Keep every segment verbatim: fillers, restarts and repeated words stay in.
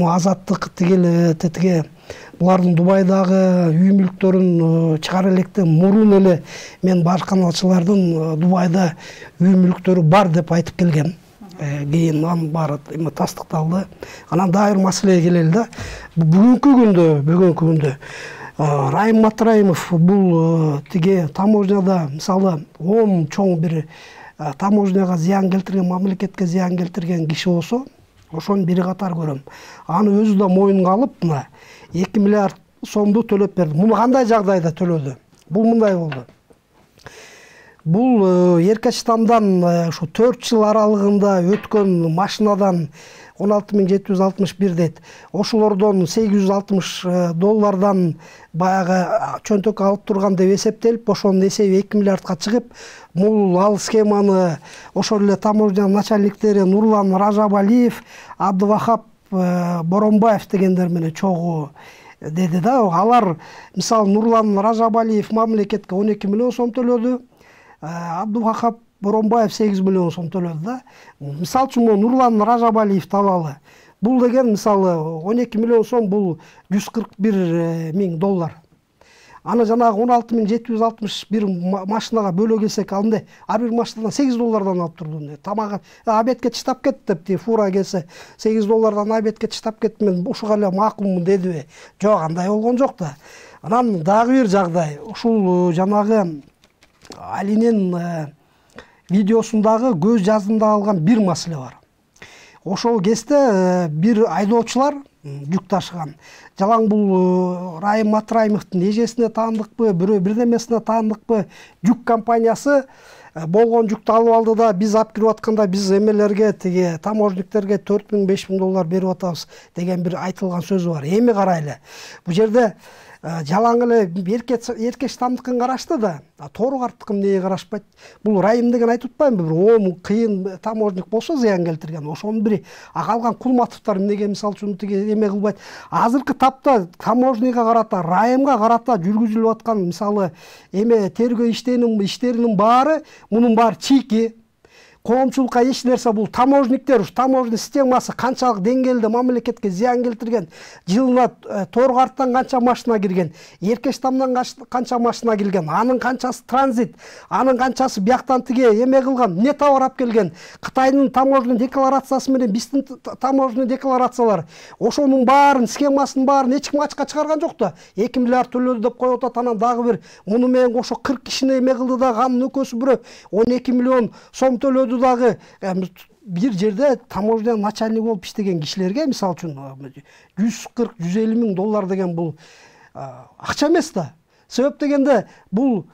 Азаттык тигил тетиге булардын Дубайдагы үй мүлктөрүн чыгара электе мурун эле мен башканалчылардын Дубайда үй мүлктөрү бар деп айтып келгем. Кийин анын баары эме тастыкталды. Анан дагы бир маселеге келели да. Бүгүнкү күндө, бүгүнкү күндө Райым Матраимов бул тиги таможняда мисалы он чоң бир таможняга зыян келтирген, мамлекетке зыян келтирген киши болсо, ошонун бири катар көрөм. Аны өзү да мойнуна алып, мына эки миллиард сомду төлөп берди. Муну кандай жагдайда төлөдү? Бул мындай болду. Бул Эркечтандан ушу төрт жыл аралыгында өткөн машинадан он алты миң жети жүз алтымыш бир дейт. Ошолордон сегиз жүз алтымыш доллардан баягы чөнтөк алып турган деп эсептелип, ошонун эсеби эки миллиардка чыгып, бул ал схеманы ошол эле таможня начальниктери Нурлан Ражабалиев, Абдывахап Боронбаев дегендер менен чогуу деди да. Алар мисалы Нурлан Ражабалиев мамлекетке он эки миллион сом төлөдү. Абдывахап Боронбаев сегиз миллион сом төлөдү да. Мисалы үчүн Нурлан Ражабалиевди алалы. Бул деген мисалы он эки миллион сом бул жүз кырк бир миң доллар. Аны жанагы он алты миң жети жүз алтымыш бир машинага бөлө келсек, андай ар бир машинадан сегиз доллардан алып турду. Тамагы обедке чыдап кетти деп, ти фура келсе сегиз доллардан обедке чыдап кетти, мен ушуга эле макулмун дедиби? Жок, андай болгон жок да. Анан дагы бир жагдай, ушул жанагы Алинин видеосундагы көз жаздымда алган бир маселе бар. Ошол кезде бир айдоочулар жүк ташыган. Жалаң бул Райым Матраимовдун эжесине таандыкпы, бирөө бирдемесине таандыкпы, жүк компаниясы болгон жүктү алып алды да, биз алып кирип атканда биз эмелерге, тиги таможниктерге төрт миң беш миң доллар берип атабыз деген бир айтылган сөз бар. Эми карайлы. Бул жерде жалаң эле Эркечтандыкын карашты да, Торгарттыкын эмнеге карашпайт? Бул Райым деген айтып атпаймынбы, бир он кыйын таможник болсо зыян келтирген. Ошонун бири калган Кулматовдор эмнеге мисалы үчүн тиги эме кылбайт? Азыркы тапта таможнийга карата, Райымга карата жүргүзүлүп аткан мисалы эме тергөө иштеринин иштеринин баары, мунун баары чийки. Коомчулукка эч нерсе, бул таможниктер, ушу таможня системасы канчалык деңгээлде мамлекетке зыян келтирген, жылына Торгарттан канча машина кирген, Эркечтандан канча машина кирген, анын канчасы транзит, анын канчасы бияктан тиге эме кылган, эмне товар алып келген, Кытайдын таможня декларациясы менен биздин таможня декларациялар, ошонун баарын, схемасынын баарын эч ким ачыкка чыгарган жок да. эки миллиард төлөдү деп коюп атат. Анан дагы бир муну менен кошо кырк кишини эме кылды да, анын өкөсү бирөө он эки миллион сом төлөдү дагы. Бир жерде таможня начальник болуп иштеген кишилерге мисалы үчүн жүз кырк жүз элүү миң доллар деген бул акча эмес да. Себеп дегенде бул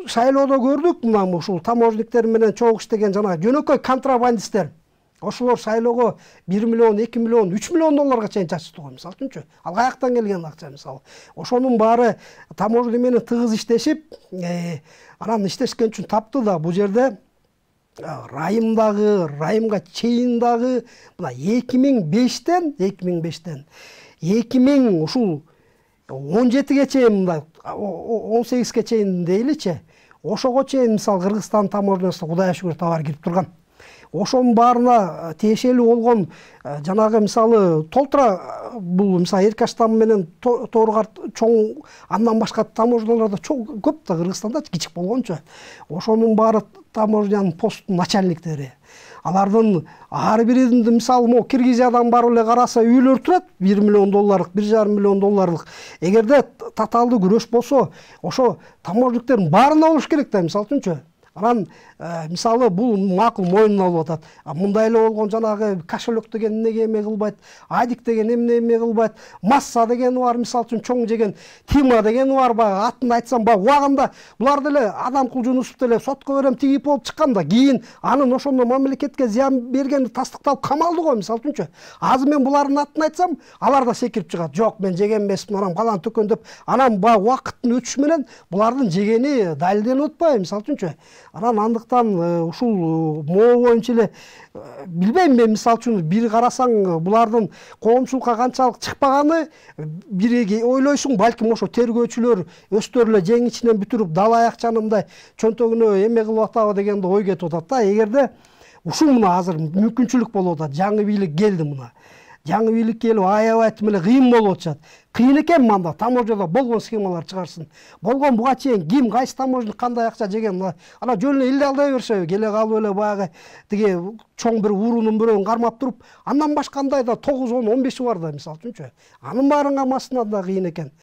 шайлоодо көрдүк, мына ушул таможниктер менен чогуу иштеген жана жөнөкөй контрабандисттер. Ошолор шайлоого бир миллион, эки миллион, үч миллион долларга чейин чачты го мисалы үчүнчү. Ал каяктан келген акча мисалы. Ошонун баары таможня менен тыгыз иштешип, анан иштешкен үчүн тапты да. Бул жерде Райымдагы, Райымга чейин дагы мына эки миң бештен, эки миң бештен эки миң ушул он жетиге чейин, мындай он сегизге чейин дейличи, ошого чейин мисалы Кыргызстан таможнясына Кудайга шүгүр товар кирип турган. Ошонун баарына тиешелүү болгон жанагы мисалы толтура, бул мисалы Эркечтан менен Торгарт чоң, андан башка таможняларда чоң көп да, Кыргызстанда кичик болгончу. Ошонун баары таможнянын посттун начальниктери. Алардын ар биринин мисалы могу Киргизиядан барып эле караса үйлөр турат, бир миллион долларлык, бир жарым миллион долларлык. Эгерде татаалдуу күрөш болсо, ошо таможниктердин баарына болуш керек да, мисалы үчүнчү. Анан мисалы бул макул мойнуна алып атат. Мындай эле болгон жанагы кошелек деген эмнеге эме кылбайт, Адик деген эмне эме кылбайт, Масса дегени бар, мисалы үчүн чоң жеген Тима дегени бар, баягы атын айтсам, баягы убагында булар деле Адам Кулжунусов деле сотко берем тигип болуп чыкканда, кийин анын ошондо мамлекетке зыян бергени тастыкталып камалды го мисалы үчүнчү. Азыр мен булардын атын айтсам, алар да секирип чыгат. Жок, мен жеген эмесмин, анан балан төкөн деп. Анан баягы убакыттын өтүшү менен булардын жегени далилденип атпайбы мисалы үчүнчү. Анан андыктан ушул могу боюнча эле билбейм, мен мисалы үчүн бир карасаң булардын коомчулукка канчалык чыкпаганы, бири ойлойсуң, балким ошо тергөөчүлөр өздөрү эле жең ичинен бүтүрүп дала акчаны мындай чөнтөгүнө эме кылып атабы дегенде ой кетип атат да. Эгерде ушул мына азыр мүмкүнчүлүк болуп атат, жаңы бийлик келди мына. жаңы бийлик келип аябай эле кыйын болуп атышат. Кыйын экен мында таможняда болгон схемалар чыгарсын. Болгон буга чейин ким кайсы таможня кандай акча жеген ана жөн эле эле алдай беришеби. Келе калып эле баягы тиги чоң бир уурунун бирөөгн кармап туруп, андан башка кандай да тогуз он он беши бар да мисалы үчүнчү. Анын баарынга машинада кыйын экен.